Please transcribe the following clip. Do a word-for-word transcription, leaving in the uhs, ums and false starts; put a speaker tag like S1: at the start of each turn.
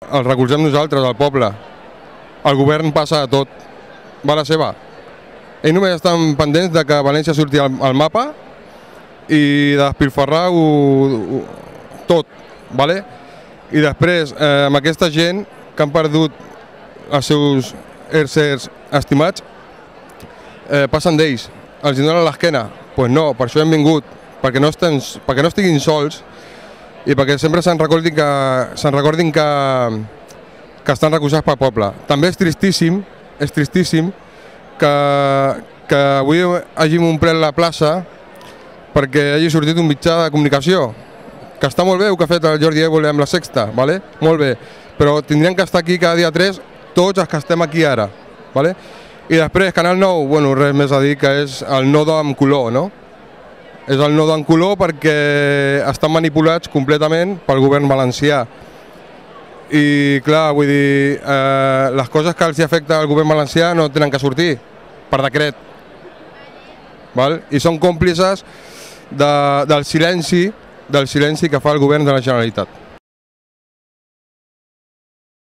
S1: El recolzem nosaltres, el poble. El govern passa a tot. Va a la seva. Ells només estan pendents de que València surti al, al mapa i de despilfarrar ho, ho, tot. Vale? I després, eh, amb aquesta gent que han perdut els seus éssers estimats, eh, passen d'ells. Els donen l'esquena. Doncs pues no, per això hem vingut. Perquè no, estem, perquè no estiguin sols i perquè sempre se'n recordin que, se'n recordin que, que estan recolzats pel poble. També és tristíssim, és tristíssim que, que avui hàgim omplert la plaça perquè hagi sortit un mitjà de comunicació, que està molt bé el que ha fet el Jordi Évole amb la Sexta, ¿vale? Molt bé, però tindrien que estar aquí cada dia tres tots els que estem aquí ara. ¿Vale? I després, Canal nou, bueno, res més a dir que és el nodo amb color, no? És el nodo amb color perquè estan manipulats completament pel govern valencià. I clar, vull dir, eh, les coses que els afecta al govern valencià no tenen que sortir per decret. Val? I són còmplices de, del silenci del silenci que fa el govern de la Generalitat.